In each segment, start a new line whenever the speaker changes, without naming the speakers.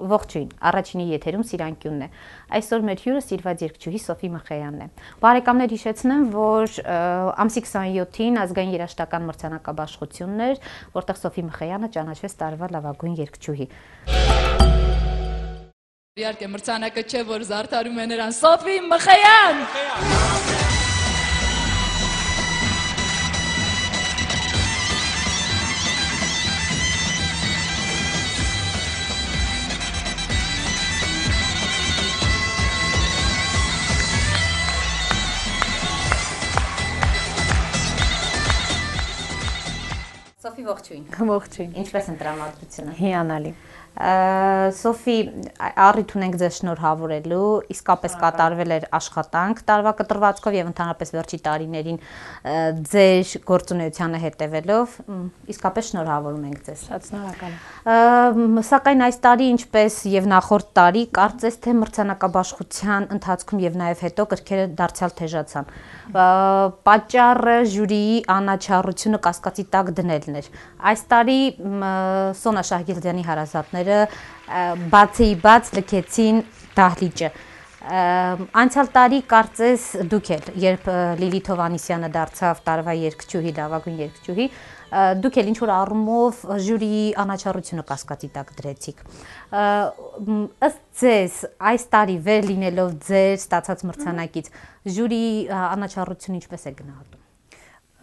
Ողջույն, առաջինի եթերում Սիրանկյունն է։ Այսօր մեր հյուրը սիրված երգչուհի Սոֆի Մխեյանն է։ Բարեկամներ, հիշեցնեմ, որ ամսի 27-ին ազգային երաժշտական մրցանակաբաշխությունն էր, որտեղ Սոֆի Մխեյանը ճանաչվեց տարվա լավագույն երգչուհի։
Իհարկե մրցանակը չէ, որ զարդարում է նրան Սոֆի Մխեյան։
Սոֆի, ողջույն։
Ողջույն։
Ինչպես են տրամադրությունը։
Հիանալի։
Սոֆի, առիթ ունենք ձեզ շնորհավորելու, իսկապես կատարվել էր աշխատանք տարվա կտրվածքով եւ ընդհանրապես վերջի տարիներին ձեր գործունեությանը հետևելով, իսկապես շնորհավորում ենք ձեզ։
Շատ շնորհակալ եմ։
Սակայն այս տարի, ինչպես եւ նախորդ տարի, կարծես թե մրցանակաբաշխության ընթացքում եւ նաեւ հետո կրքերը դարձյալ թեժացան։ Պատճառը ժյուրիի անաչառությունը կասկածի տակ դնելն էր։ Այս տարի Սոնա Շահգիլդյանի հարազատները բացի-բաց լքեցին դահլիճը։ Անցյալ տարի կարծես դուք էլ, երբ Լիլիթ Հովհաննիսյանը դարձավ տարվա երգչուհի, լավագույն երգչուհի, դուք էլ ինչ-որ առումով ժյուրիի անաչառությունը կասկածի տակ դրեցիք։ Ըստ ձեզ, այս տարի վեր լինելով ձեր ստացած մրցանակից, ժյուրիի անաչառությունը ինչպես է գնահատում։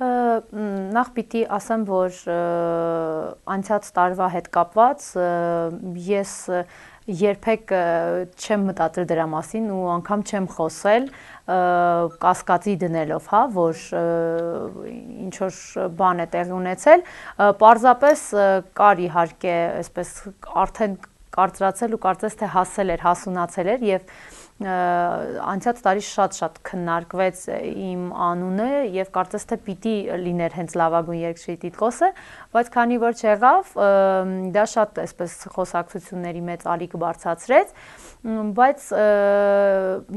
Նախ պիտի ասեմ, որ անցած տարվա հետ կապված ես երբեք չեմ մտածել դրա մասին ու անգամ չեմ խոսել կասկածի դնելով, հա, որ ինչ որ բան է տեղի ունեցել, պարզապես կար իհարկե, այսպես արդեն կարծրացել ու կարծես թե հասունացել էր եւ անցած տարի շատ քննարկվեց իմ անունը եւ կարծես թե պիտի լիներ հենց լավագույն երգչուհի տիտղոսը, բայց քանի որ չեղավ, դա շատ այսպես խոսակցությունների մեծ ալիք բարձրացրեց, բայց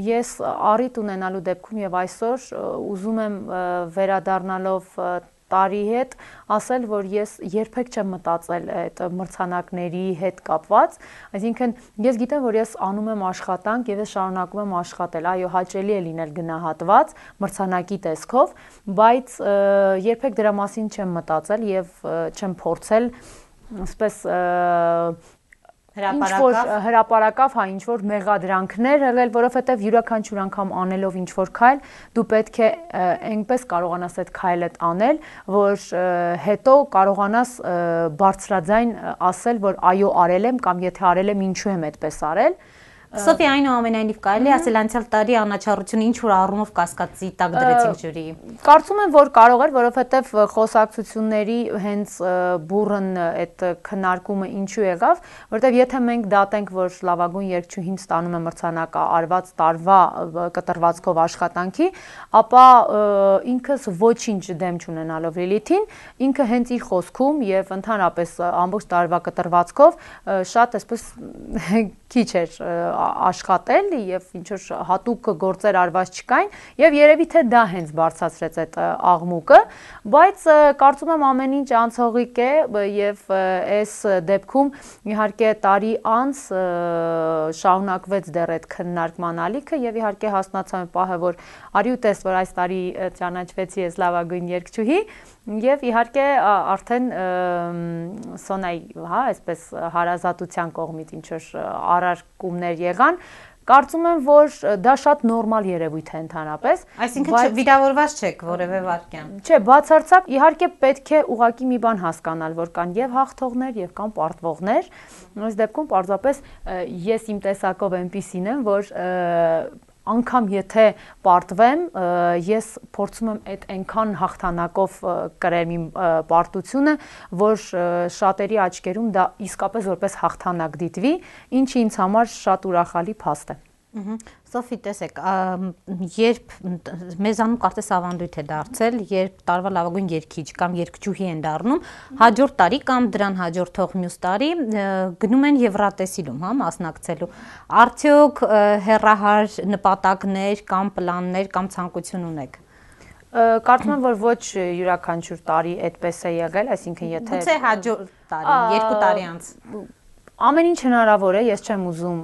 ես առիթ ունենալու դեպքում եւ այսօր ուզում եմ վերադառնալով տարի հետ ասել, որ ես երբեք չեմ մտածել այդ մրցանակների հետ կապված, այսինքն ես գիտեմ, որ ես անում եմ աշխատանք եւ ես շարունակում եմ աշխատել, այո, հաճելի է լինել գնահատված մրցանակի տեսքով, բայց երբեք դրա մասին չեմ մտածել եւ չեմ փորձել, ասես հրապարակավ, հա, ինչ-որ մեղադրանքներ եղել, որովհետև յուրաքանչյուր անգամ անելով ինչ-որ քայլ, դու պետք է այնպես կարողանաս այդ քայլը անել, որ հետո կարողանաս բարձրաձայն ասել, որ այո, արել եմ կամ եթե արել եմ, ինչու եմ այդպես արել։
Սոֆի, այնուամենայնիվ կարելի ասել անցյալ տարի անաչառությունը ինչ որ առումով կասկածի տակ դրեցինք ժյուրիի։
Կարծում եմ, որ կարող էր, որովհետև խոսակցությունների հենց բուրըն այդ քննարկումը ինչու եղավ, որովհետև եթե մենք դատենք, որ լավագույն երգչուհին ստանում է մրցանակը արված տարվա կտրվածքով աշխատանքի, ապա ինքս ոչինչ դեմ չունենալով Լիլիթին, ինքը հենց իր խոսքում եւ ընդհանրապես ամբողջ տարվա կտրվածքով շատ այսպես քիչ էր աշխատել եւ ինչ որ հատուկ գործեր արված չկային եւ երևի թե դա հենց բարձրացրեց այդ աղմուկը, բայց կարծում եմ ամեն ինչ անցողիկ է եւ այս դեպքում իհարկե տարի անց շարունակվեց դեռ այդ քննարկման ալիքը եւ իհարկե հասնացավ պահը, որ արի ու տես, որ այս տարի ճանաչվեցի ես լավագույն երգչուհի եւ իհարկե արդեն Սոնայի, հա, այսպես հարազատության կողմից ինչ որ առարկումներ եղան, կարծում եմ, որ դա շատ նորմալ երևույթ է ընդհանրապես։
Այսինքն վիրավորված չեք որևէ վարքյան։
Չէ, բացարձակ իհարկե պետք է ուղղակի մի բան հասկանալ, որ կան եւ հաղթողներ եւ կան պարտվողներ։ Այս դեպքում պարզապես ես իմ տեսակով այնպիսին եմ, որ անգամ եթե պարտվեմ, ես փորձում եմ այդ այնքան հաղթանակով կրել իմ պարտությունը, որ շատերի աչքերում դա իսկապես որպես հաղթանակ դիտվի, ինչը ինձ համար շատ ուրախալի փաստ է։
Սոֆի, տեսեք, երբ մեզանում կարծես ավանդույթ է դարձել, երբ տարվա լավագույն երգիչ կամ երգչուհի են դառնում, հաջորդ տարի կամ դրան հաջորդող մյուս տարի գնում են Եվրատեսիլում, հա, մասնակցելու։ Արդյոք հեռահար նպատակներ կամ պլաններ կամ ցանկություն ունեք։
Կարծում եմ, որ ոչ յուրաքանչյուր տարի այդպես է եղել, այսինքն եթե
Գուցե հաջորդ տարի, 2 տարի անց։
Ամեն ինչ հնարավոր է, ես չեմ ուզում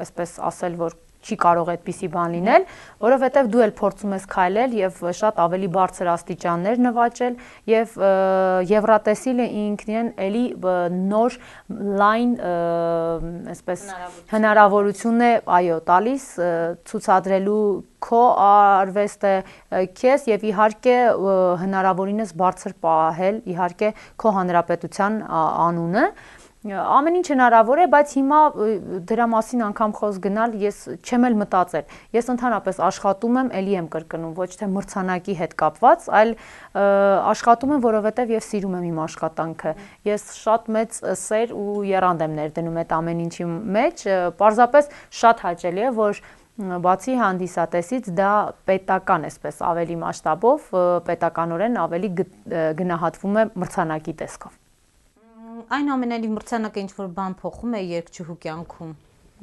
այսպես ասել, որ չի կարող այդպիսի բան լինել, որովհետև դու էլ փորձում ես քայլել եւ շատ ավելի բարձր աստիճաններ նվաճել եւ Եվրատեսիլը ինքն իրեն էլի նոր լայն այսպես հնարավորություն է, այո, տալիս ցուցադրելու քո արվեստը քեզ եւ իհարկե հնարավորինս բարձր պահել իհարկե քո հանրապետության անունը Ամեն ինչ հնարավոր է, բայց հիմա դրա մասին անգամ խոսք գնալ ես չեմ էլ մտածել։ Ես ընդհանրապես աշխատում եմ, ելի եմ կրկնում, ոչ թե մրցանակի հետ կապված, այլ աշխատում եմ, որովհետև ես սիրում եմ իմ աշխատանքը։ Ես շատ մեծ սեր ու եռանդ եմ ներդնում այդ ամեն ինչի մեջ, պարզապես շատ հաճելի է, որ բացի հանդիսատեսից դա պետական այսպես ավելի մասշտաբով, պետականորեն ավելի գնահատվում է մրցանակի տեսքով։
Այնուամենայնիվ մրցանակը ինչ-որ բան փոխում է երգչուհու կյանքում։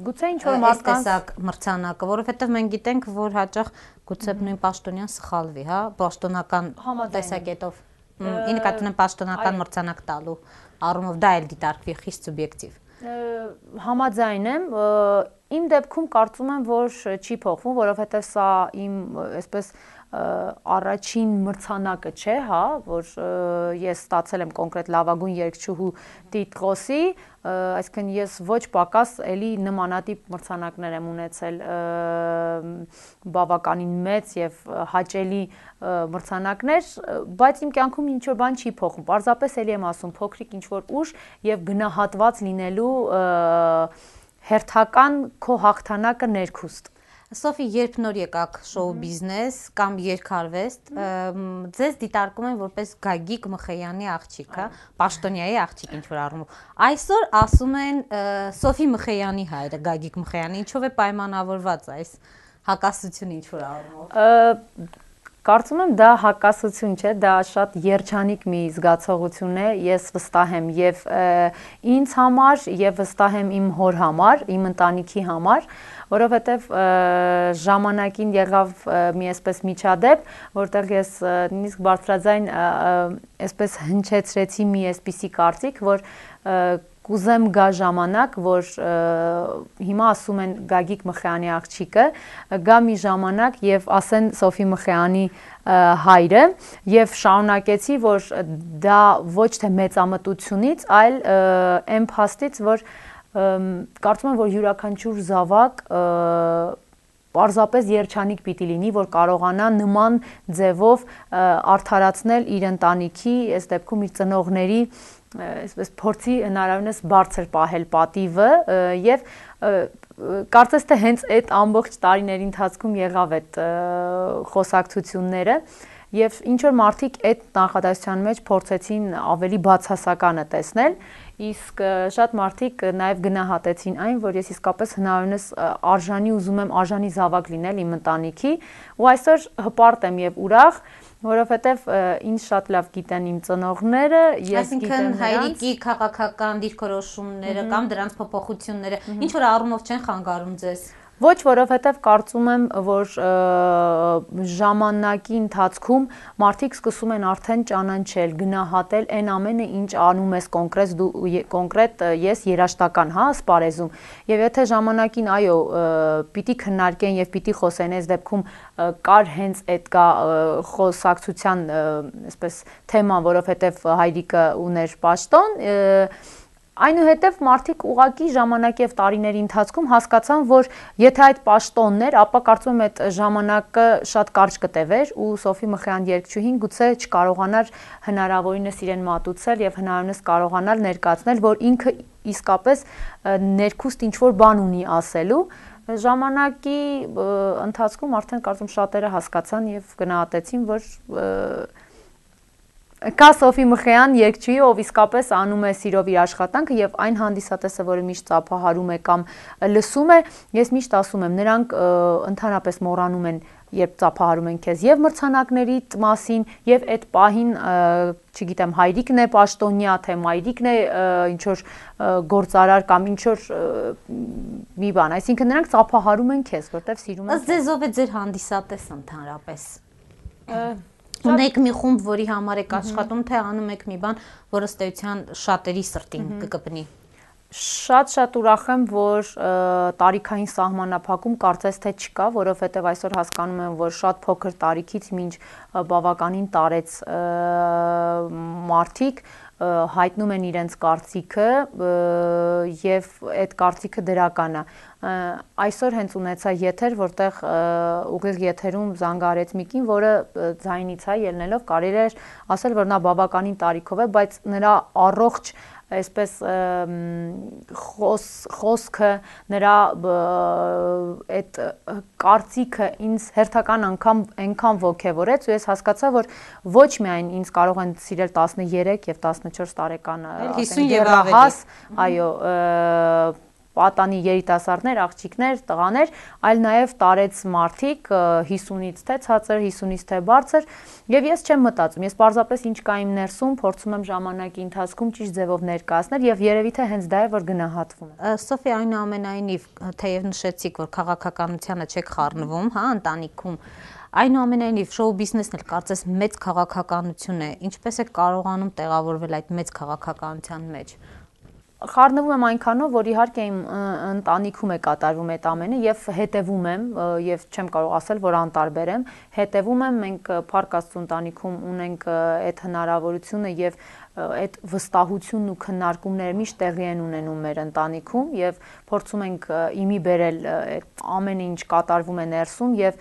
Գուցե ինչ-որ մարդկանց
մրցանակը, որովհետև մենք գիտենք, որ հաճախ գուցե նույն պաշտոնյան սխալվի, հա, պաշտոնական տեսակետով։ Ի նկատի ունեմ պաշտոնական մրցանակ տալու առումով դա էլ դիտարկվի խիստ սուբյեկտիվ։
Համաձայն եմ, իմ դեպքում կարծում եմ, որ չի փոխվում, որովհետև սա իմ այսպես առաջին մրցանակը չէ, հա, որ ես ստացել եմ կոնկրետ լավագույն երգչուհու տիտղոսի, այսինքն ես ոչ պակաս էլի նմանատիպ մրցանակներ եմ ունեցել բավականին մեծ եւ հաճելի մրցանակներ, բայց իմ կյանքում ինչ որ բան չի փոխում։ Պարզապես էլի եմ ասում, փոքրիկ ինչ որ ուժ եւ գնահատված լինելու հերթական քո հաղթանակը ներքուստ։
Սոֆի, երբ նոր եկաք շոու բիզնես կամ երգարվեստ, ձեզ դիտարկում են որպես Գագիկ Մխեյանի աղջիկ, հա, պաշտոնյայի աղջիկ ինչ-որ առումով։ Այսօր ասում են Սոֆի Մխեյանի հայրը, Գագիկ Մխեյանը, ինչով է պայմանավորված այս հակասությունը ինչ-որ առումով։
Կարծում եմ դա հակասություն չէ, դա շատ երջանիկ մի զգացողություն է, ես վստահ եմ եւ ինձ համար եւ վստահ եմ իմ հոր համար, իմ ընտանիքի համար, որովհետեւ ժամանակին եղավ մի այսպես միջադեպ, որտեղ ես նույնիսկ բարձրաձայն այսպես հնչեցրեցի մի այսպիսի կարծիք, որ կուզեմ գա ժամանակ, որ հիմա ասում են Գագիկ Մխեյանի աղջիկը, գա մի ժամանակ եւ ասեն Սոֆի Մխեյանի հայրը եւ շարունակեցի, որ դա ոչ թե մեծամտությունից, այլ այն փաստից, որ կարծում եմ, որ յուրաքանչյուր զավակ պարզապես երջանիկ պիտի լինի, որ կարողանա նման ձևով արդարացնել իր ընտանիքի, այս դեպքում իր ծնողների այսպես փորձի հնարավորինս բարձր պահել պատիվը եւ կարծես թե հենց այդ ամբողջ տարիների ընթացքում եղավ այդ խոսակցությունները եւ ինչ որ մարդիկ այդ նախադասության մեջ փորձեցին ավելի բացասականը տեսնել իսկ շատ մարդիկ նաեւ գնահատեցին այն որ ես իսկապես հնարավորինս արժանի ուզում եմ արժանի զավակ լինել իմ ընտանիքի ու այսօր հպարտ եմ եւ ուրախ որովհետև ինձ շատ լավ գիտեն իմ ծնողները, ես գիտեմ նրանց։
Հայրիկի քաղաքական դիրքորոշումները կամ դրանց փոփոխությունները ինչ որ առումով չեն խանգարում ձեզ։
Ոչ, որովհետև կարծում եմ, որ ժամանակի ընթացքում մարդիկ սկսում են արդեն ճանաչել, գնահատել այն ամենը, ինչ անում ես կոնկրետ ես երաժշտական, հա, սպարեզում։ Եվ եթե ժամանակին, այո, պիտի քննարկեն եւ պիտի խոսեն, այս դեպքում կար հենց այդ կա խոսակցության, այսպես թեման, որովհետև հայրիկը ուներ պաշտոն, Այնուհետև մարդիկ ուղակի ժամանակի եւ տարիների ընթացքում հասկացան, որ եթե այդ պաշտոնն էր, ապա կարծում եմ այդ ժամանակը շատ կարճ կտևեր ու Սոֆի Մխեյան երգչուհին գուցե չկարողանար հնարավորինս իրեն մատուցել եւ հնարավորինս կարողանալ ներկայացնել, որ ինքը իսկապես ներքուստ ինչ-որ բան ունի ասելու ժամանակի ընթացքում արդեն կարծում շատերը հասկացան եւ գնահատեցին, որ Կա Սոֆի Մխեյան երգչուհի, ով իսկապես անում է սիրով իր աշխատանքը եւ այն հանդիսատեսը, որը միշտ ծափահարում է կամ լսում է, ես միշտ ասում եմ, նրանք ընդհանրապես մոռանում են, երբ ծափահարում են քեզ եւ մրցանակների մասին եւ այդ պահին, չգիտեմ, հայրիկն է պաշտոնյա, թե մայրիկն է ինչ որ գործարար կամ ինչ որ մի բան, այսինքն նրանք ծափահարում են քեզ, որտեվ սիրում են։
Ըստ ձեզ ով է ձեր հանդիսատես ընդհանրապես։ Ունեք մի խումբ, որի համար եք աշխատում, թե անում եք մի բան, որը ըստ էության շատերի սրտին կկպնի։
Շատ ուրախ եմ, որ տարիքային սահմանափակում կարծես թե չկա, որովհետև այսօր հասկանում եմ, որ շատ փոքր տարիքից մինչ բավականին տարեց մարդիկ հայտնում են իրենց կարծիքը եւ այդ կարծիքը դրական է։ Այսօր հենց ունեցա եթեր, որտեղ ուղիղ եթերում զանգարեց մեկին, որը ձայնից ելնելով կարելի էր ասել, որ նա բավականին տարիքով է, բայց նրա առողջ այսպես խոսքը նրա այդ կարծիքը ինձ հերթական անգամ այնքան ոգևորեց ու ես հասկացա, որ ոչ միայն ինձ կարող են սիրել 13 եւ 14 տարեկան
դեռահաս,
այո, պատանի երիտասարդներ, աղջիկներ, տղաներ, այլ նաև տարեց մարդիկ 50-ից թե ցածր, 50-ից թե բարձր, եւ ես չեմ մտածում, ես պարզապես ինչ կա իմ ներսում, փորձում եմ ժամանակի ընթացքում ճիշտ ձևով ներկայացնել եւ երևի թե հենց դա է, որ գնահատվում է։
Սոֆի, այնուամենայնիվ, թեև նշեցիք, որ քաղաքականությանը չեք խառնվում, հա, ընտանիքում, այնուամենայնիվ շոու բիզնեսն էլ կարծես մեծ քաղաքականություն է, ինչպես է կարողանում տեղավորվել այդ մեծ քաղաքականության մեջ։
Խառնվում եմ այնքանով, որ իհարկե իմ ընտանիքում է կատարվում այդ ամենը եւ հետեւում եմ եւ չեմ կարող ասել, որ անտարբեր եմ, հետեւում եմ, մենք Փառք Աստծո ընտանիքում ունենք այդ հնարավորությունը եւ այդ վստահությունն ու քննարկումները միշտ տեղի են ունենում մեր ընտանիքում եւ փորձում ենք իմի բերել այդ ամենը ինչ կատարվում է ներսում եւ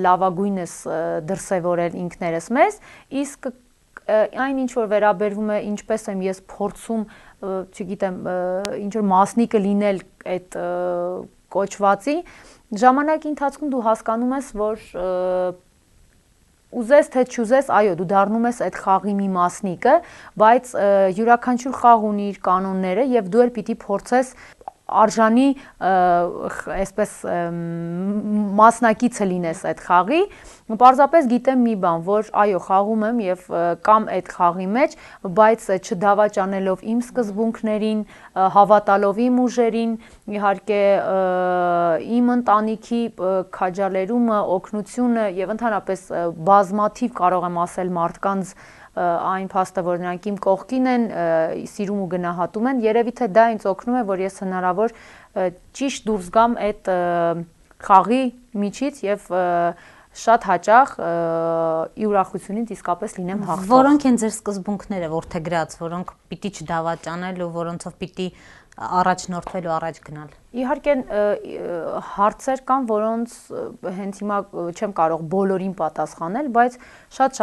լավագույնս դրսեւորել ինքներս մեզ, իսկ այն ինչ որ վերաբերվում է ինչպես եմ ես փորձում չգիտեմ ինչ որ մասնիկը լինել այդ կոչվածի ժամանակի ընթացքում դու հասկանում ես որ ուզես թե չուզես այո դու դառնում ես այդ խաղի մի մասնիկը բայց յուրաքանչյուր խաղ ունի իր կանոնները եւ դու էլ պիտի փորձես արժանի այսպես մասնակիցը լինես այդ խաղի պարզապես գիտեմ մի բան որ այո խաղում եմ եւ կամ այդ խաղի մեջ բայց չդավաճանելով իմ սկզբունքներին հավատալով իմ ուժերին իհարկե իմ ընտանիքի քաջալերումը օգնությունը եւ ընդհանրապես բազմաթիվ կարող եմ ասել մարդկանց այն փաստը, որ նրանք իմ կողքին են, սիրում ու գնահատում են, երևի թե դա ինձ օգնում է, որ ես հնարավոր ճիշտ դուրս գամ այդ խաղի միջից եւ շատ հաճախ ի ուրախությունից իսկապես լինեմ հաղթող։
Որոնք են ձեր սկզբունքները որդեգրած, որոնք պիտի չդավաճանել ու որոնցով պիտի առաջնորդվել ու առաջ գնալ։
Իհարկե հարցեր կան, որոնց հենց հիմա չեմ կարող բոլորին պատասխանել, բայց շատ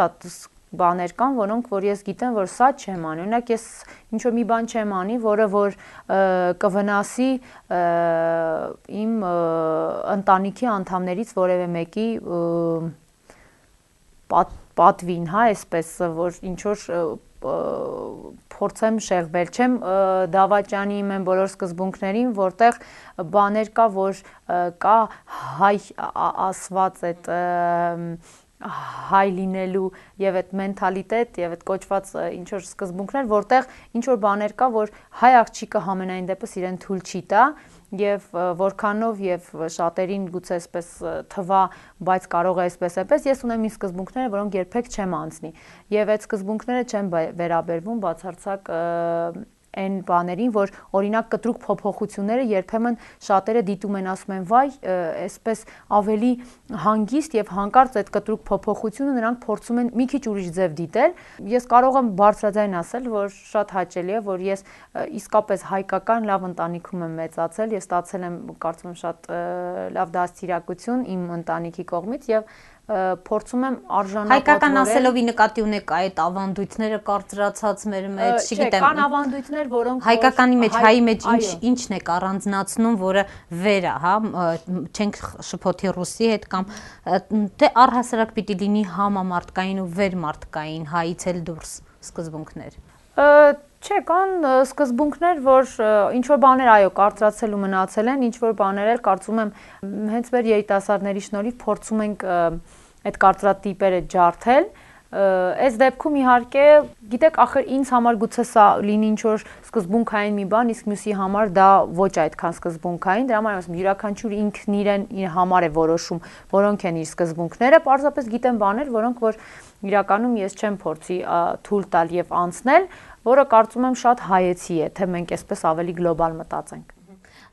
բաներ կան, որոնք որ ես գիտեմ, որ սա չեմ անի։ Օրինակ ես ինչ որ մի բան չեմ անի, որը որ կվնասի իմ ընտանիքի անդամներից որևէ մեկի պատվին, հա, այսպես որ ինչ որ փորձեմ շեղվել, չեմ դավաճանի իմ բոլոր սկզբունքներին, որտեղ բաներ կա, որ կա հայ ասված այդ հայ լինելու եւ այդ մենթալիտետ եւ այդ կոչված ինչ որ սկզբունքներ, որտեղ ինչ որ բաներ կա, որ հայ աղջիկը համենայն դեպս իրեն թույլ չի տա եւ որքանով եւ շատերին գուցե այսպես թվա, բայց կարող է այսպես ես ունեմ իմ սկզբունքները, որոնք երբեք չեմ անցնի եւ այդ սկզբունքները չեն վերաբերվում բացարձակ այն բաներին, որ օրինակ կտրուկ փոփոխությունները երբեմն շատերը դիտում են, ասում են, վայ, այսպես ավելի հանգիստ եւ հանկարծ այդ կտրուկ փոփոխությունը նրանք փորձում են մի քիչ ուրիշ ձև դիտել։ Ես կարող եմ բարձրաձայն ասել, որ շատ հաճելի է, որ ես իսկապես հայկական լավ ընտանիքում եմ մեծացել, ես ստացել եմ, կարծում եմ, շատ լավ դաստիարակություն իմ ընտանիքի կողմից եւ փորձում եմ արժանապատվորել։
Հայկական ասելով ի նկատի ունեք այդ ավանդույթները կարծրացած մեր մեջ, չգիտեմ։
Կան ավանդույթներ, որոնք
հայկականի մեջ, հայի մեջ ինչն է առանձնացնում, որը վեր է, հա, չենք շփոթի ռուսի հետ կամ թե առհասարակ պիտի լինի համամարտկային ու վերմարտկային, հայից էլ դուրս սկզբունքներ։
Չէ, կան սկզբունքներ, որ ինչ որ բաներ այո կարծրացել ու մնացել են, ինչ որ բաներ էլ կարծում եմ հենց մեր երիտասարդների շնորհիվ փորձում ենք այդ կարծրատիպերը ջարդել, Այս դեպքում իհարկե, գիտեք, ախր ինձ համար գուցե սա լինի ինչ-որ սկզբունքային մի բան, իսկ մյուսի համար դա ոչ այդքան սկզբունքային, դրա համար ասում յուրաքանչյուր ինքն իրեն իր համար է որոշում, որոնք են իր սկզբունքները, պարզապես գիտեմ բաներ, որոնք որ իրականում ես չեմ փորձի թույլ տալ եւ անցնել, որը կարծում եմ շատ հայեցի է, թե մենք այսպես ավելի գլոբալ մտածենք։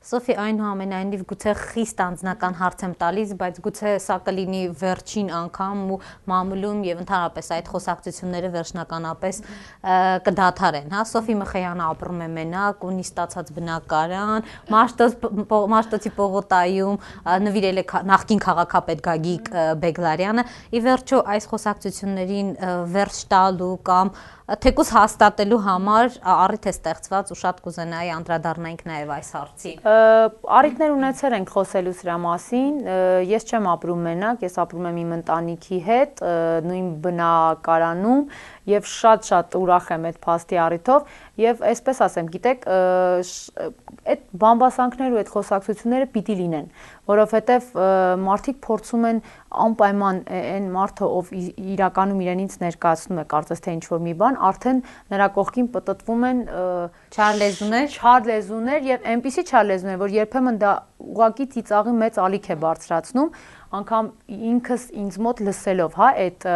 Սոֆի, այնուամենայնիվ գուցե խիստ անձնական հարց եմ տալիս, բայց գուցե սա կլինի վերջին անգամ ու մամուլում եւ ընդհանրապես այդ խոսակցությունները վերջնականապես կդադարեն, հա։ Սոֆի Մխեյանը ապրում է մենակ, ունի ստացած բնակարան, Մաշտոցի պողոտայում նվիրել է նախկին քաղաքապետ Գագիկ Բեգլարյանը։ Ի վերջո այս խոսակցություններին վերջ տալու կամ թեկուզ հաստատելու համար առիթ է ստեղծված ու շատ կուզենայի անդրադառնանք նաև այս հարցին։
Առիթներ ունեցել ենք խոսելու սրա մասին, ես չեմ ապրում մենակ, ես ապրում եմ իմ ընտանիքի հետ, նույն բնակարանում եւ շատ ուրախ եմ այդ փաստի առիթով եւ այսպես ասեմ, գիտեք, այդ բամբասանքները ու այդ խոսակցությունները պիտի լինեն, որովհետեւ մարդիկ փորձում են անպայման այն մարդը, ով իրականում իրենից ներկայացնում է կարծես թե ինչ-որ մի բան, արդեն նրա կողքին պտտվում են չար լեզուներ եւ այնպիսի չար լեզուներ, որ երբեմն դա ուղղակի ծիծաղի մեծ ալիք է բարձրացնում, անգամ ինքս ինձ մոտ լսելով, հա, այդ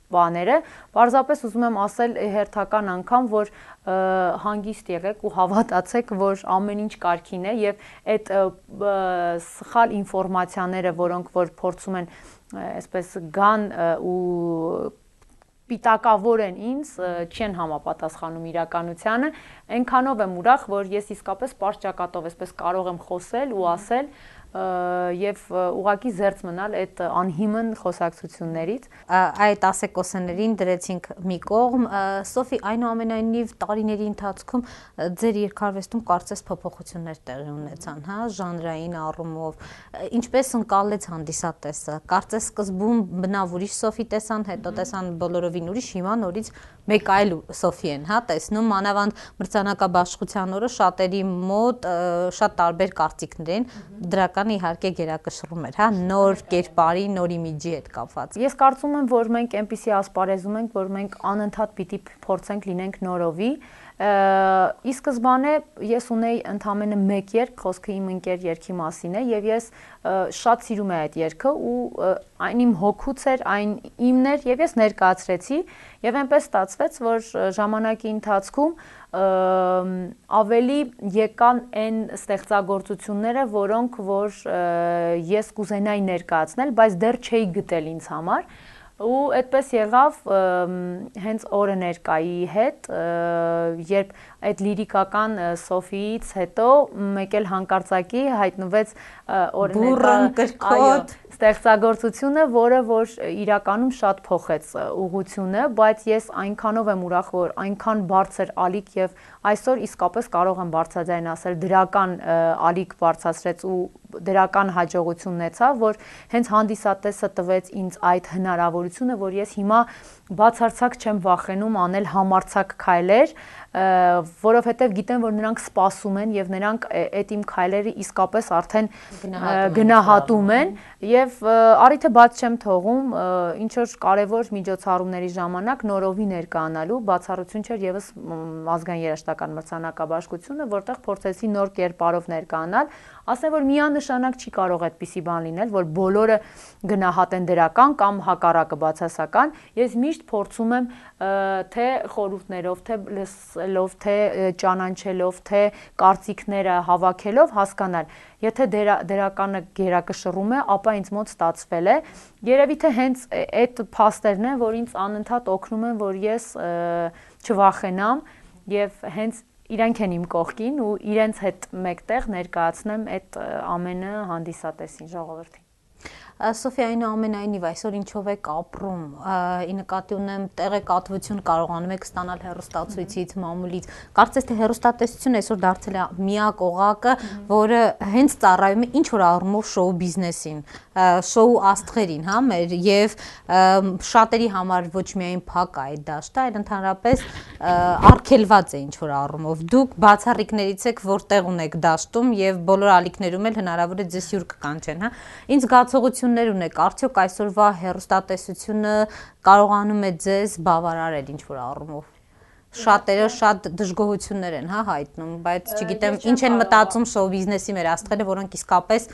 բաները, պարզապես ուզում եմ ասել հերթական անգամ, որ հանգիստ եղեք ու հավատացեք, որ ամեն ինչ կարգին է եւ այդ սխալ ինֆորմացիաները, որոնք որ փորձում են այսպես գան ու պիտակավոր են ինձ, չեն համապատասխանում իրականությանը, այնքանով եմ ուրախ, որ ես իսկապես պարզ ճակատով այսպես կարող եմ խոսել ու ասել եւ ուղակի զերծ մնալ այդ անհիմն խոսակցություններից։
Այդ ասեկոսներին դրեցինք մի կողմ։ Սոֆի, այնուամենայնիվ տարիների ընթացքում ձեր երկարվեստում կարծես փոփոխություններ տեղի ունեցան, հա, ժանրային առումով, ինչպես ընկալեց հանդիսատեսը։ Կարծես սկզբում բնավ ուրիշ Սոֆի տեսան, հետո տեսան բոլորովին ուրիշ, հիմա նորից մեկ այլ Սոֆի են, հա, տեսնում, մանավանդ մրցանակաբաշխության օրը շատերի մոտ շատ տարբեր կարծիքներ են, դրական իհարկե գերակշռում էր, հա, նոր կերպարի, նոր իմիջի հետ կապված։
Ես կարծում եմ, որ մենք այնպիսի ասպարեզում ենք, որ մենք անընդհատ պիտի փորձենք լինենք նորովի։ Ի սկզբանե ես ունեի ընդամենը մեկ երգ, խոսքը իմ ընկեր երգի մասին է, եւ ես շատ սիրում եմ այդ երգը ու այն իմ հոգուց էր, այն իմն էր եւ ես ներկայացրեցի եւ այնպես ստացվեց, որ ժամանակի ընթացքում ավելի եկան այն ստեղծագործությունները, որոնք որ ես կուզենայի ներկայացնել, բայց դեռ չէի գտել ինձ համար։ Ու այդպես եղավ հենց օրը ներկայի հետ, երբ այդ լիրիկական Սոֆիից հետո մեկ էլ հանկարծակի հայտնվեց
բուրըն
ստեղծագործությունը, որը որ իրականում շատ փոխեց ուղղությունը, բայց ես այնքանով եմ ուրախ, որ այնքան բարձր ալիք եւ այսօր իսկապես կարող եմ բարձրաձայն ասել դրական ալիք բարձրացրեց ու դրական հաջողություն ունեցավ, որ հենց հանդիսատեսը տվեց ինձ այդ հնարավորությունը, որ ես հիմա բացարձակ չեմ վախենում անել համարձակ քայլեր, որովհետև գիտեմ, որ նրանք սպասում են եւ նրանք այդ իմ քայլերը իսկապես արդեն գնահատում են եւ առիթը բաց չեմ թողում ինչ որ կարեւոր միջոցառումների ժամանակ նորովի ներկայանալու, բացառություն չէր եւս ազգային երաժշտական մրցանակաբաշխությունը, որտեղ փորձեցի նոր կերպարով ներկայանալ, ասեմ որ միանշանակ չի կարող այդպիսի բան լինել, որ բոլորը գնահատեն դրական կամ հակառակը բացասական, ես միշտ փորձում եմ թե խորհուրդներով, թե լսելով, թե ճանաչելով, թե կարծիքները հավաքելով հասկանալ, եթե դրականը գերակշռում է, ապա ինձ մոտ ստացվել է, երևի թե հենց այդ փաստերն են, որ ինձ անընդհատ օգնում են, որ ես չվախենամ եւ հենց իրենք են իմ կողքին ու իրենց հետ մեկտեղ ներկայացնեմ այդ ամենը հանդիսատեսին, ժողովրդին։
Սոֆի, այնուամենայնիվ այսօր ինչով եք ապրում, ի նկատի ունեմ տեղեկատվություն կարողանում եք ստանալ հեռուստացույցից, մամուլից, կարծես թե հեռուստատեսությունը այսօր դարձել է միակ օղակը, որը հենց ծառայում է ինչ որ առումով շոու բիզնեսին, շոու աստղերին, հա, մեր եւ շատերի համար ոչ միայն փակ է այդ դաշտը, այլ ընդհանրապես արգելված է ինչ որ առումով։ Դուք բացառիկներից եք, որտեղ ունեք դաշտում եւ բոլոր ալիքներում էլ հնարավոր է ձեզ հյուր կկանչեն, հա։ Ինչ զգացողություն դժգոհություններ ունեք, արդյոք այսօրվա հեռուստատեսությունը կարողանում է ձեզ բավարարել ինչ-որ առումով։ Շատերը շատ դժգոհություններ են, հա, հայտնում, բայց չգիտեմ, ինչ են մտածում շոու բիզնեսի մեր աստղերը, որոնք իսկապես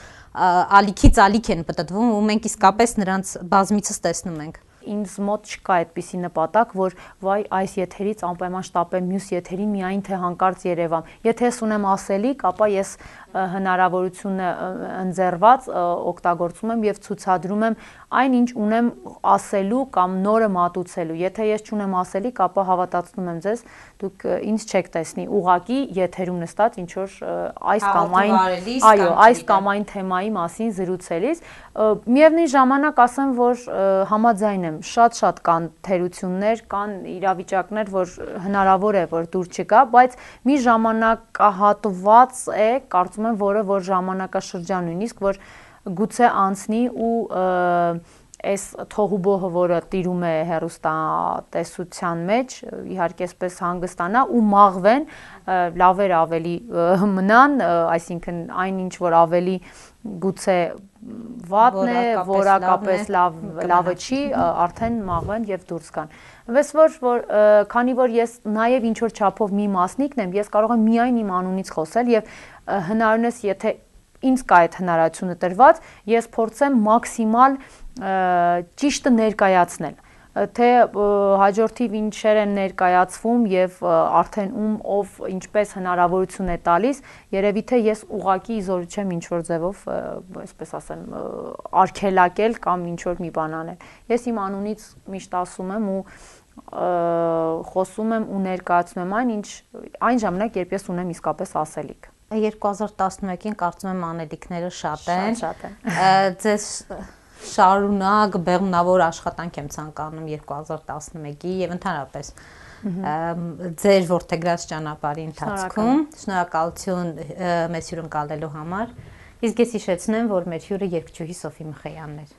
ալիքից ալիք են պտտվում ու մենք իսկապես նրանց բազմիցս տեսնում ենք։
Ինձ մոտ չկա այդպիսի նպատակ, որ վայ այս եթերից անպայման շտապեմ մյուս եթերին միայն թե հանկարծ երևամ։ Եթե ես ունեմ ասելիք, ապա ես հնարավորությունը ընձեռված օգտագործում եմ եւ ցուցադրում եմ այն, ինչ ունեմ ասելու կամ նորը մատուցելու։ Եթե ես չունեմ ասելիք, ապա հավատացնում եմ ձեզ, դուք ինձ չեք տեսնի ուղակի եթերում նստած ինչ որ այս կամ այն, այո, այս կամ այն թեմայի մասին զրուցելիս։ Միևնույն ժամանակ ասեմ, որ համաձայն եմ, շատ կան թերություններ, կան իրավիճակներ, որ հնարավոր է, որ դուր չգա, բայց մի ժամանակահատված է, կարծում եմ, որ ժամանակաշրջան նույնիսկ, որ գուցե անցնի ու այս թողուբոհը, որը տիրում է հեռուստատեսության մեջ, իհարկե այսպես հանգստանա ու մաղվեն, լավեր ավելի մնան, այսինքն այն ինչ որ ավելի գուցե վատն է, որակապես լավը չի, արդեն մաղվեն եւ դուրս գան։ Ըստ որ քանի որ ես նաեւ ինչ որ չափով մի մասնիկն եմ, ես կարող եմ միայն իմ անունից խոսել եւ հնարավորինս եթե ինձ կա այդ հնարավորությունը տրված, ես փորձեմ մաքսիմալ ճիշտը ներկայացնել, թե հաջորդիվ ինչեր են ներկայացվում եւ արդեն ով ինչպես հնարավորություն է տալիս, երևի թե ես ուղակի իզորու չեմ ինչ որ ձևով, այսպես ասեմ, արգելակել կամ ինչ որ մի բան անել։ Ես իմ անունից միշտ ասում եմ ու խոսում եմ ու ներկայացնում եմ այն ժամանակ, երբ ես ունեմ իսկապես ասելիք։
2011-ին կարծում եմ անելիքները շատ են։ Ձեզ շարունակ բեղմնավոր աշխատանք եմ ցանկանում 2011-ի եւ ընդհանրապես ձեր ворթեգրած ճանապարհի ընթացքում։ Շնորհակալություն մեզ հյուրընկալելու համար։ Իսկ ես հիշեցնեմ, որ մեր հյուրը երգչուհի Սոֆի Մխեյանն էր։